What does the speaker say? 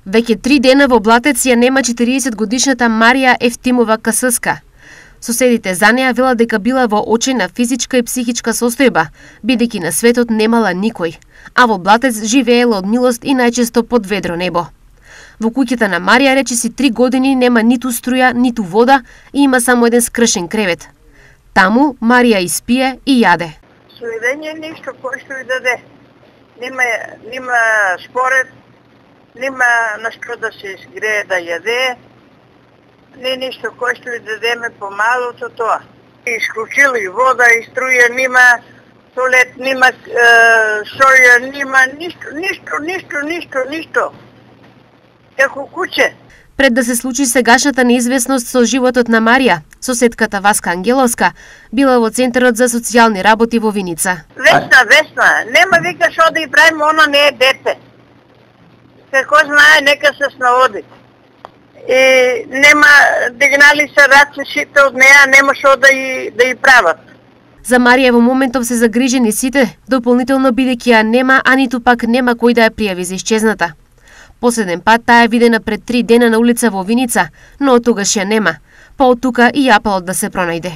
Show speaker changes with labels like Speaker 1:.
Speaker 1: Веќе 3 дена во Блатец ја нема 40-годишната Марија Ефтимова Касска. Соседите за неа велат дека била во очајна физичка и психичка состојба, бидејќи на светот немала никој, а во Блатец живеела од милост и најчесто под ведро небо. Во куќата на Марија речиси 3 години нема ниту струја, ниту вода и има само еден скршен кревет. Таму Марија испие и јаде.
Speaker 2: Следење ништо кој што и даде. Нема според, нема на што да се изгрее да јаде, не ништо кој што и дадеме помалото тоа. Исклучили вода и струја, нема туалет, нема соја, нема ништо. Како куќе.
Speaker 1: Пред да се случи сегашната неизвестност со животот на Марија, соседката Васка Ангеловска била во Центарот за социјални работи во Виница.
Speaker 2: Весна, нема вика што да и правиме, она не е дете. Како знае, нека се снаоди. И нема, дигнали се раце сите од неа, нема што да и прават.
Speaker 1: За Марија во моментов се загрижени сите, дополнително бидејќи ја нема, а ниту пак нема кој да ја пријави за исчезната. Последен пат таа е видена пред 3 дена на улица во Виница, но од тогаш ја нема, па од тука и апелот да се пронајде.